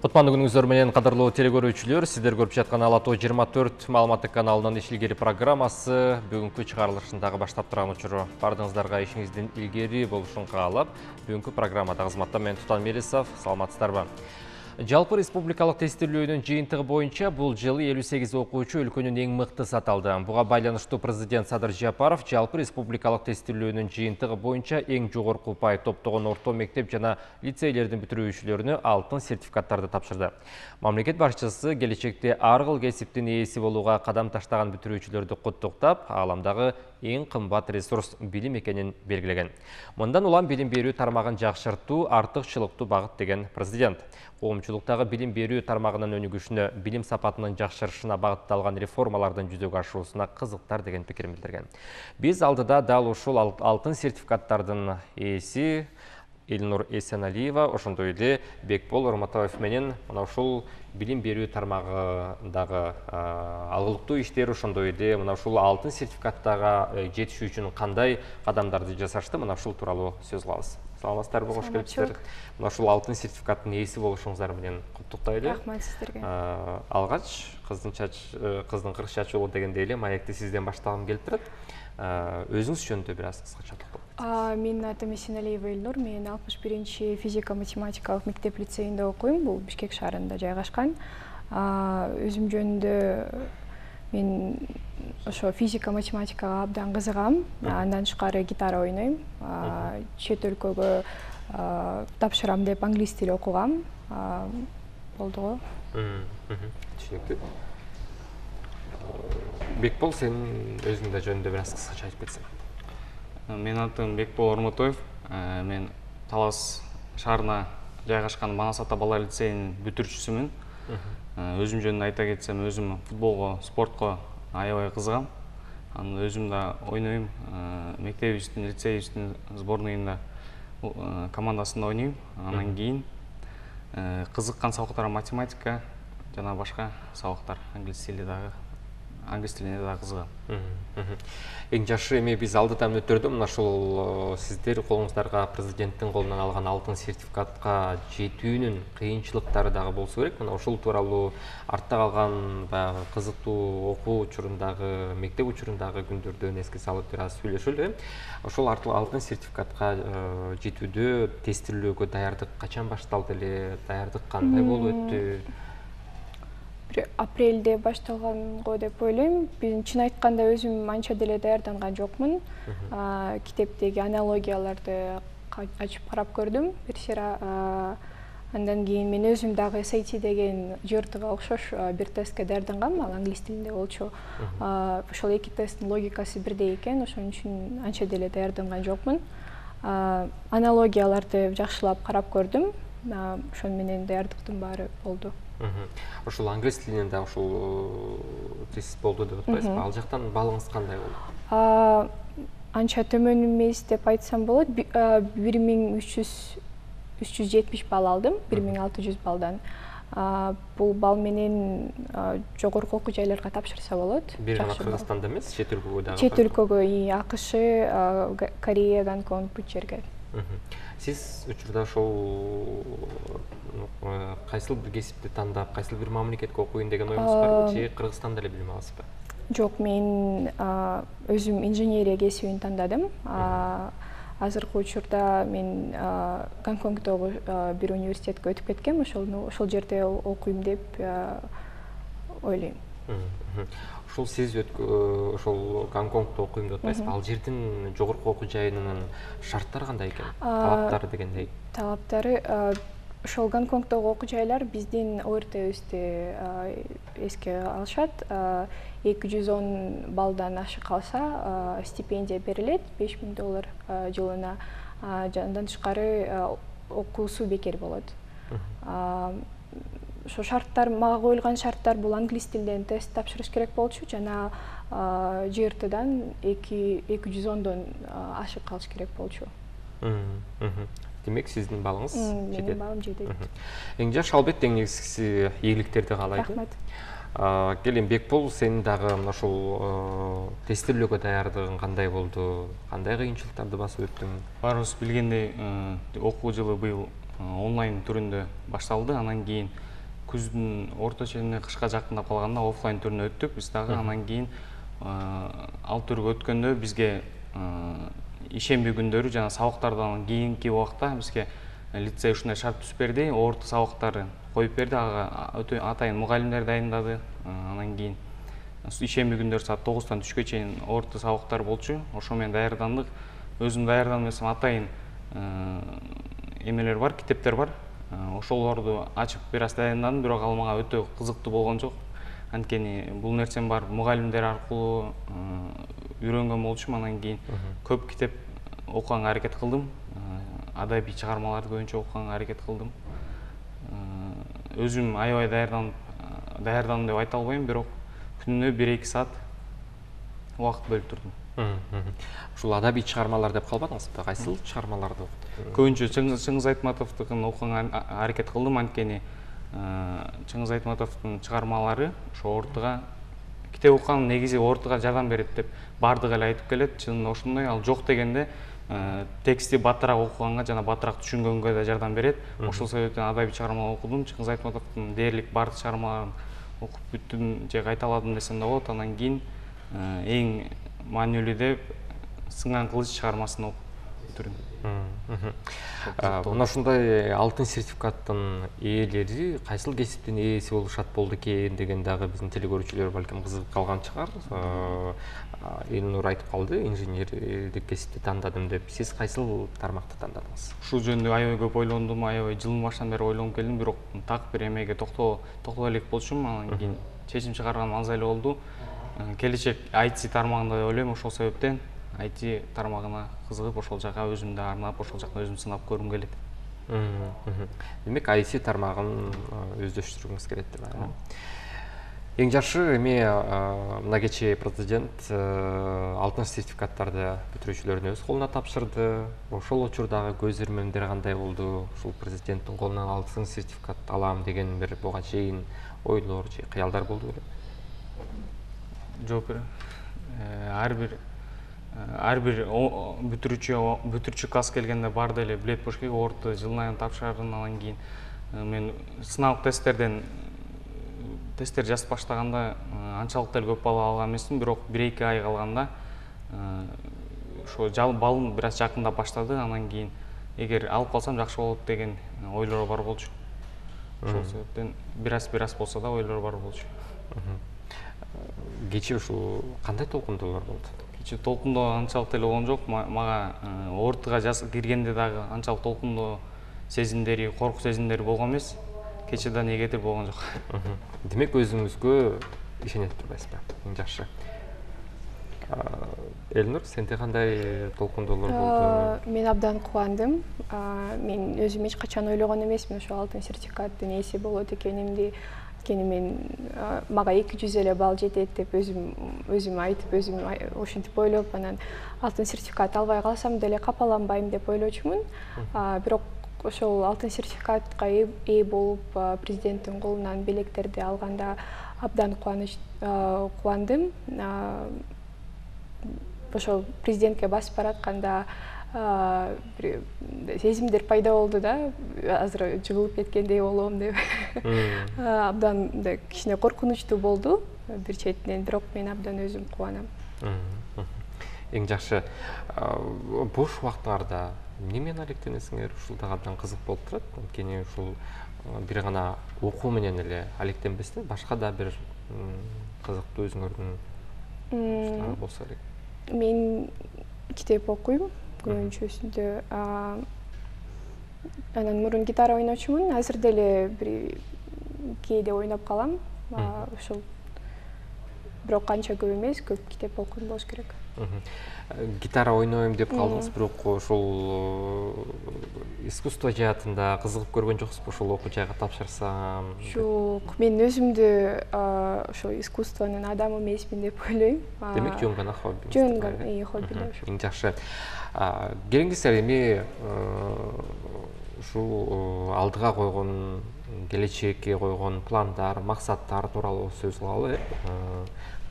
Кутмандуу күнүңүздөр менен кадырлуу телекөрүүчүлөр, сиздер көрүп жаткан Ала Тоо 24 маалыматтык каналынын иш илгери программасы бүгүнкү чыгарылышын дагы баштап турган учуру. Бардыгыңыздарга ишиңиздин илгери болушун каалап, бүгүнкү программада кызматта мен Тутан Мелисов, саламатсыздарбы? Жалпы республикалык тестилөөнүн жыйынтыгы боюнча бул жылы 58 окуучу өлкөнүн эң мыктысы аталды. Буга байланыштуу президент Садыр Жапаров жалпы республикалык тестилөөнүн жыйынтыгы боюнча эң жогорку упай топтогон орто мектеп жана лицейлердин бүтүрүүчүлөрүнө алтын сертификаттарды тапшырды. Мамлекет башчысы келечекте ар кыл кесиптин ээси болууга кадам таштаган бүтүрүүчүлөрдү куттуктап, ааламдагы эң кымбат ресурс билим экенин белгилеген. Мындан улам билим берүү тармагын жакшыртуу артыкчылыктуу багыт деген президент. Коомчулуктагы билим берүү тармагынын өнүгүшүнө, билим сапатынын жакшырышына багытталган реформалардын жүзөгө ашуусуна кызыктар деген пикирин билдирген. Биз алдыда дал ушул алтын сертификаттардын ээси Элнур Эсеналиева, ошондой эле Бекбол Орматаев менен мына ушул билим берүү тармагындагы алгылыктуу иштер, ошондой эле мына ушул алтын сертификаттарга жетишүү үчүн кандай кадамдарды жасашты, мына ушул тууралуу сөз кылабыз. Саламатсыздарбы, кош келипсиздер. Мына ушул алтын сертификаттын ээси болушуңуздар менен куттуктайлы. Рахмат сиздерге. Алгач кыздын кырк чачуулу дегендей эле маекти сизден баштагым келип турат. Өзүңүз жөнүндө бир аз кыскача токтолуп. Менин атым Эсеналиева Элнур, мен 61-чи физика-математикалык мектеп лицейинде окуйм. Бул Бишкек шаарында жайгашкан. Өзүм жөнүндө мен ошо физика-математикага абдан кызыгам. Андан тышкары гитара ойнойм. Чет өлкөгө тапшырам деп англис тили окугам. Болду го. Түшүнүктүү. Бекбол, сен өзүң да жөнүндө бир аз кыскача айтып кетсең. Менин атым Бекбол Орматаев. Мен Талас шаарына жайгашкан Манас ата балдар лицейинин бүтүрүүчүсүмүн. Өзүм жөнүндө айта кетсем, өзүм футболго, спортко аябай кызыгам. Анан өзүм да ойнойм. Мектебибиздин, лицейибиздин сборныйында командасында ойнойм. Анан кийин кызыккан сабактар математика жана башка сабактар, англис тилине дагы кызыгам. Эң жакшы эми биз алдыдан өтөрдү мына ушул сиздер колуңуздарга президенттин колунан алган алтын сертификатка жетүүнүн кыйынчылыктары дагы болсо керек. Мына ушул тууралуу артта калган баягы кызыктуу окуу учурундагы, мектеп учурундагы күндөрдөн эске салып бир аз сүйлөшөлү. Ошол алтын сертификатка жетүүдө тестилөөгө даярдык качан башталды эле? Даярдык кандай болуп өттү? Апрелде башталганго деп ойлойм. Мен чын айтканда өзүм анча деле даярданган жокмун. Китептеги аналогияларды ачып карап көрдүм бир сыйра. Андан кийин мен өзүм дагы SAT деген жыртыга окшош бир тестке даярдангам, ал англис тилинде болчу. Ошол эки тесттин логикасы бирдей экен, ошон үчүн анча деле даярданган жокмун. Аналогияларды жакшылап карап көрдүм. Ошон менен даярдыктын баары болду. Ошол англис тилинен да ушул тест болду деп атпайсызбы? Ал жактан балыңыз кандай болду? Анча төмөн эмес деп айтсам болот. 1370 балл алдым, 1600 балдан. Бул балл менен жогорку окуу жайларга тапшырса болот. Бир гана Кыргызстанда эмес, чет өлкөгө дагы. Чет өлкөгө, АКШ, Корея, Гонконг бул жерге. Сиз учурда ошол кайсыл бир кесипти тандап, кайсыл бир мамлекетке окуйн деген оюңуз барбы, же Кыргызстанда эле билим аласызбы? Жок, мен өзүм инженерия кесибин тандадым. Азыркы учурда мен Гонконгдогу бир университетке өтүп кеткем, ошол жерде окуйм деп ойлойм. Ушул сиз ошол Гонконгдо окуйм деп атпайсызбы? Ал жердин жогорку окуу жайынын шарттары кандай экен? Талаптары дегендей. Талаптары ошол Гонконгдогу окуу жайлар биздин ОРТБизди эске алышат. 210 баллдан ашы калса стипендия берилет, $5000 жылына. Андан тышкары окуусу бекер болот. Ошо шарттар, мага коюлган шарттар бул англис тилинен тест тапшырыш керек болчу, жана ЖРТдан 210дон ашып калыш керек болчу. Демек, сиздин балыңыз жетет? Менин балым жетет. Эң жакшы, албетте, эң негизгиси ийгиликтерди каалайт. Рахмат. Келин, Бекбол, сенин дагы ушул тестилөөгө даярдыгың кандай болду? Кандай кыйынчылыктарды басып өттүң? Баарыбыз билгендей, окуу жылы быйыл онлайн түрүндө башталды. Анан кийин күздүн орто ченинде кышка жакындап калганда оффлайн түрүндө өттүк биз дагы. Анан кийин ал түргө өткөндө бизге ишемби күндөрү жана сабактардан кийинки убакта бизге лицей ушундай шарт түзүп берди. Орто сабактары коюп берди. Ага өтө атайын мугалимдер дайындады. Анан кийин ишемби күндөрү саат 9-тан түшкө чейин орто сабактар болчу. Ошо менен даярдандык. Өзүм даярданып элесем атайын эмелер бар, китептер бар. Ошолорду ачып бир аз дайындадым, бирок ал мага өтө кызыктуу болгон жок. Анткени бул нерсени бар мугалимдер аркылуу үйрөнгөн болчумун. Анан кийин көп китеп окуганга аракет кылдым. Адабий чыгармаларды көбүнчө окуганга аракет кылдым. Өзүм аябай даярдандым деп айта албайм, бирок күнүнө 1-2 саат убакыт бөлүп турдум. Ушул адабий чыгармалар деп калбадыңызбы? Кайсыл чыгармаларды окудуңуз? Көбүнчө Чыңгыз Айтматовдукун окуганга аракет кылдым, анткени Чыңгыз Айтматовдун чыгармалары ошо ортого китеп окуган негизи ортого жардам берет деп бардыгы эле айтып келет. Чынында ошондой. Ал жок дегенде тексти баттыраак окуганга жана баттыраак түшүнгөнгө да жардам берет. Ошол себептен адабий чыгармалар окудум. Чыңгыз Айтматовдун дээрлик бардык чыгармаларын окуп бүттүм же кайталадым десем да болот. Анан кийин эң маанилүү деп Сынган кылыч чыгармасын окуп бүтүрдүм. Мына ушундай алтын сертификаттын ээлери кайсыл кесиптин ээси болушат болду экен деген дагы биздин телекөрүүчүлөр балким кызыгып калган чыгар. Элнур айтып калды, инженердик кесипти тандадым деп. Сиз кайсыл тармакты тандадыңыз? Ушул жөнүндө аябай көп ойлондум, аябай жылдын башынан бери ойлонуп келдим, бирок так бир эмеге токтой элек болчумун. Анан кийин чечим чыгарганым аз эле болду. Келечек IT тармагында деп ойлойм. Ошол себептен IT тармагына кызыгып, ошол жака өзүмдү арнап, ошол жакта өзүм сынап көргүм келет. Демек, IT тармагын өздөштүргүңүз келет деп атам. Эң жакшы эми мына кечээ президент алтын сертификаттарды бүтүрүүчүлөрдүн өз колуна тапшырды. Ошол учурдагы көз ирмемдер кандай болду? Ушул президенттин колунан алтын сертификат алам деген бир буга чейин ойлор же кыялдар болду беле? Жок, ар бир бүтүрүүчү класс келгенде барды эле билет болуш керек. Орто жылдан айын тапшырарын. Анан кийин мен сыналык тесттер жазып баштаганда анчалык деле көп балл алган эмесмин, бирок 1-2 ай калганда ошо балым бир аз жакындап баштады. Анан кийин эгер алып калсам жакшы болот деген ойлор бар болчу. Ошол себептен бир аз болсо да ойлор бар болчу. Кечээ ушул кандай толкундоолор болду? Кечээ толкундоо анчалык деле болгон жок. Мага ортого киргенде дагы анчалык толкундоо сезимдери, корку сезимдери болгон эмес. Кечээ да негатив болгон жок. Демек, өзүңүзгө ишенет турбайсызбы? Эң жакшы. Элнур, сенде кандай толкундоолор болду? Мен абдан кубандым. Мен өзүм эч качан ойлогон эмесмин ошо алтын сертификаттын ээси болот экенимди. Анткени мен мага 200 эле балл жетет деп өзүм айтып, өзүм ошентип ойлоп, анан алтын сертификат албай калсам деле капаланбайм деп ойлочумун. Бирок ошол алтын сертификатка ээ болуп, президенттин колунан белектерди алганда абдан кубандым. Ошол президентке басып баратканда сезимдер пайда болду да, азыр жыгылып кеткендей болом деп. Абдан кичине коркунучтуу болду бир четинен, бирок мен абдан өзүм кубанам. Эң жакшы. Бош убактыңарда эмне менен алектенесиңер? Ушул дагы абдан кызык болуп турат. Анткени ушул бир гана окуу менен эле алектенбестен башка да бир кызыктуу өзүңөрдүн иштер болсо керек. Мен китеп окуйм көбүнчөсүндө. Анан мурун гитара ойночумун. Азыр деле бир кээде ойноп калам. Ошол бирок канча көп эмес, көп китеп окуйм болуш керек. Гитара ойнойм деп калдыңыз, бирок ошол искусство жаатында кызыгып көргөн жоксузбу? Ошол окуу жайга тапшырсам? Жок, мен өзүмдү ошо искусствонун адамы эмесмин деп ойлойм. Демек, жөн гана хобби. Жөн гана хобби. Эң жакшы. Келиңиздер, эми ушул алдыга койгон, келечекке койгон пландар, максаттар тууралуу сөз кылалы.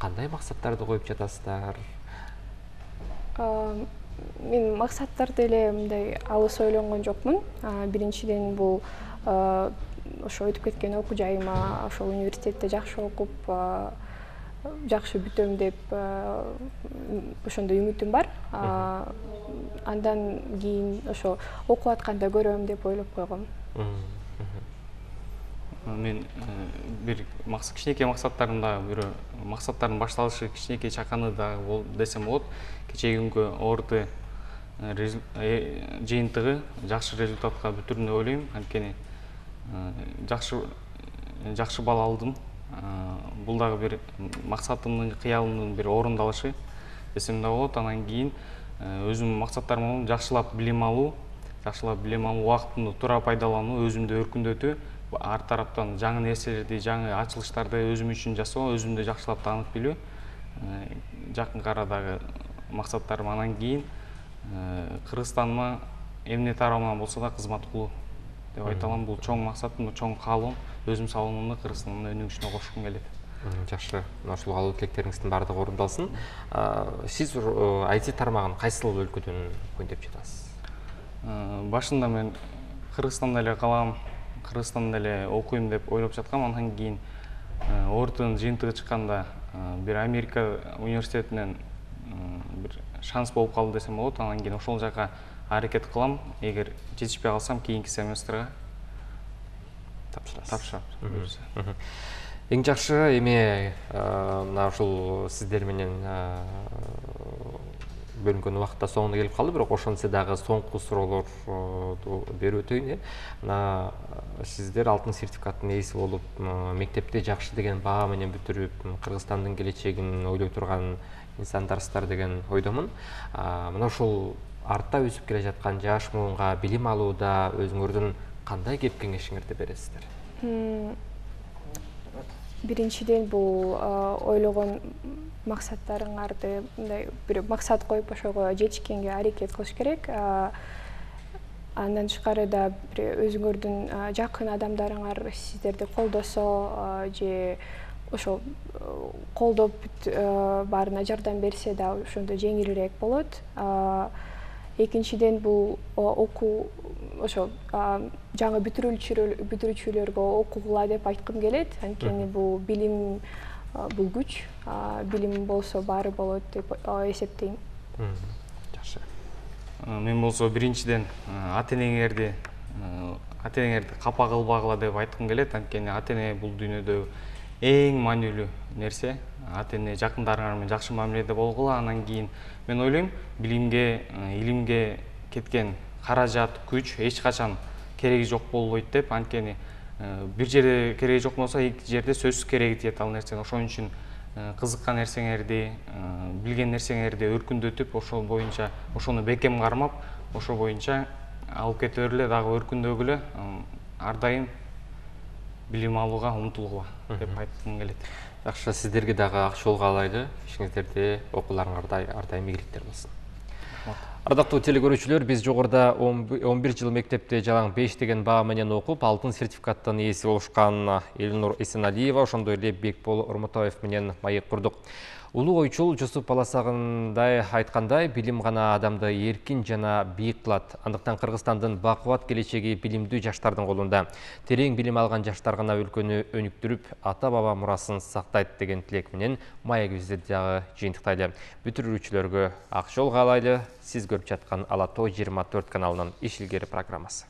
Кандай максаттарды коюп жатасыздар? Мен максаттарды эле мындай алыс ойлонгон жокмун. Биринчиден бул ошо өтүп кеткен окуу жайыма, ошол университетте жакшы окуп, жакшы бүтөм деп ошондой үмүтүм бар. Андан кийин ошо окуп атканда көрөм деп ойлоп койгом. Мен бир кичинекей максаттарымда бир максаттардын башталышы кичинекей чаканы да десем болот. Кечеги күнгө ОРТ жыйынтыгы жакшы результатка бүтүрдүм деп ойлойм. Анткени жакшы балл алдым. Бул дагы бир максатымдын, кыялымдын бир орундалышы десем да болот. Анан кийин өзүмдүн максаттарым жакшылап билим алуу, убактымды туура пайдалануу, өзүмдү өркүндөтүү, ар тараптан жаңы нерселерди, жаңы ачылыштарды өзүм үчүн жасоо, өзүмдү жакшылап таанып билүү жакынкы арадагы максаттарым. Анан кийин Кыргызстаныма эмне тарабынан болсо да кызмат кылуу деп айта алам. Бул чоң максатым, чоң каалоом. Өзүм салонумду Кыргызстандын өнүгүшүнө кошкум келет. Жакшы, ушул каалоо тилектериңиздин баардыгы орундалсын. Сиз IT тармагын кайсыл өлкөдөн көйдөп жатасыз? Башында мен Кыргызстанда эле калам, Кыргызстанда эле окуйм деп ойлоп жаткам. Андан кийин ОРТнын жыйынтыгы чыкканда бир Америка университетинен бир шанс болуп калды десем болот. Анан кийин ошол жака аракет кылам. Эгер жетишпей калсам, кийинки семестрге тапшырам. Эң жакшы эми мына ушул сиздер менен бөлүнгөн убакытта соңуна келип калды, бирок ошентсе дагы соңку суроолорду берип өтөйүн. Мына сиздер алтын сертификаттын ээси болуп, мектепте жакшы деген баа менен бүтүрүп, Кыргызстандын келечегин ойлой турган инсандарсыздар деген ойдомун. Мына ушул артта өсүп келе жаткан жаш муунга билим алууда өзүңөрдүн кандай кеп кеңешиңерди бересиздер? Биринчиден бул ойлогон максаттарыңарды мындай бир максат коюп ошого жетишкенге аракет кылыш керек. Андан тышкары да бир өзүңөрдүн жакын адамдарыңар сиздерди колдосо же ошо колдоп баарына жардам берсе да ошондо жеңилирээк болот. Экинчиден бул окуу ошо жаңы бүтүрүүчүлөргө окугула деп айткым келет. Анткени бул билим, бул күч, билим болсо баары болот деп эсептейм. Жакшы. Мен болсо биринчиден ата-энеңерди капа кылбагыла деп айткым келет. Анткени ата-эне бул дүйнөдө эң маанилүү нерсе. Ата-эне жакындарыңар менен жакшы мамиледе болгула. Анан кийин мен ойлойм, билимге, илимге кеткен каражат, күч эч качан кереги жок болбойт деп. Анткени бир жерде кереги жок болсо, эки жерде сөзсүз кереги тиет ал нерсени. Ошон үчүн кызыккан нерсеңерди, билген нерсеңерди өркүндөтүп, ошол боюнча ошону бекем кармап, ошол боюнча алып кете бергиле, дагы өркүндөгүлө, ар дайым билим алууга умтулгула деп айткым келет. Жакшы, сиздерге дагы ак жол каалайлы. Ишиңиздерде, окууларыңарда ар дайым ийгиликтер болсун. Ардактуу телекөрүүчүлөр, биз жогоруда 11 жыл мектепте жалаң 5 деген баа менен окуп, алтын сертификаттын ээси болушкан Элнур Эсеналиева, ошондой эле Бекбол Ормутаев менен маек курдук. Улуу ойчул Жусуп Баласагындай айткандай, билим гана адамды эркин жана бийик кылат. Андыктан Кыргызстандын бакубат келечеги билимдүү жаштардын колунда. Терең билим алган жаштар гана өлкөнү өнүктүрүп, ата-баба мурасын сактайт деген тилек менен маегибизди дагы жыйынтыктайлы. Бүтүрүүчүлөргө ак жол каалайлы. Сиз көрүп жаткан Ала Тоо 24 каналынын иш илгери программасы.